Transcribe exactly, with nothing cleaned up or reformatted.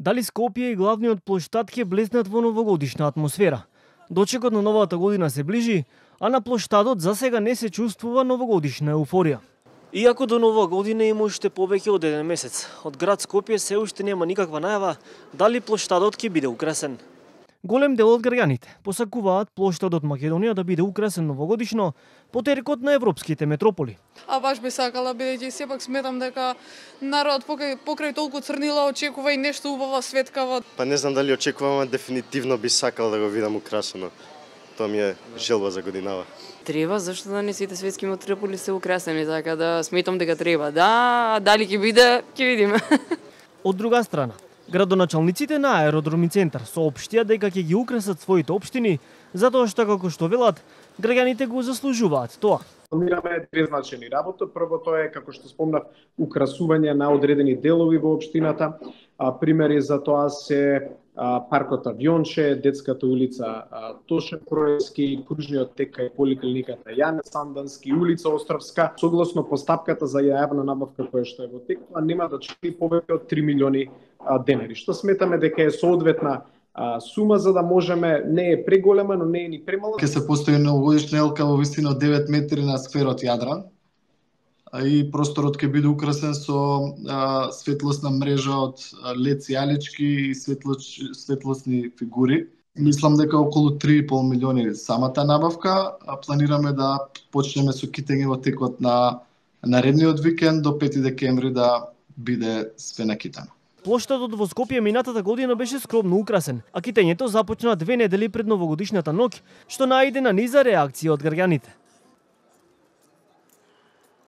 Дали Скопје и главниот плоштад ќе блеснат во новогодишна атмосфера? Дочекот на новата година се ближи, а на плоштадот засега не се чувствува новогодишна еуфорија. Иако до нова година има уште повеќе од еден месец, од град Скопје се уште нема никаква најава дали плоштадот ќе биде украсен. Голем дел од граѓаните посакуваат плоштадот Македонија да биде украсен новогодишно по теркот на европските метрополи. А баш би сакала, бидејќи сепак сметам дека народ покрај, покрај толку црнила очекува и нешто убава светкава. Па не знам дали очекувам, дефинитивно би сакал да го видам украсено. Тоа ми е желба за годинава. Треба, зашто да не сите светски метрополи се украсени, така да сметам дека треба. Да, дали ќе биде, ќе видиме. Од друга страна, градоначалниците на Аеродроми центар соопштија дека ќе ги украсат своите општини, затоа што, како што велат, граѓаните го заслужуваат тоа. Планираме две значајни работи. Прво тоа е, како што спомнав, украсување на одредени делови во општината. А, примери за тоа се а, паркот Авионче, детската улица а, Тошев Кроевски, кружниот тек кај поликлиниката Јане Сандански, улица Островска. Согласно постапката за јавна набавка која што е во тек, нема да чини повеќе од три милиони а, денари, што сметаме дека е соодветна А, сума за да можеме, не е преголема, но не е ни премала. Ке се постои новогодишна елка во висина од девет метри на скверот Јадран, а и просторот ќе биде украсен со а, светлосна мрежа од лед сијалички и светлоч, светлосни фигури. Мислам дека околу три и пол милиони самата набавка, а планираме да почнеме со китење во текот на наредниот викенд до пети декември да биде све накитано. Плоштадот во Скопје минатата година беше скромно украсен, а китењето започна две недели пред новогодишната ноќ, што најде на низа реакција од граѓаните.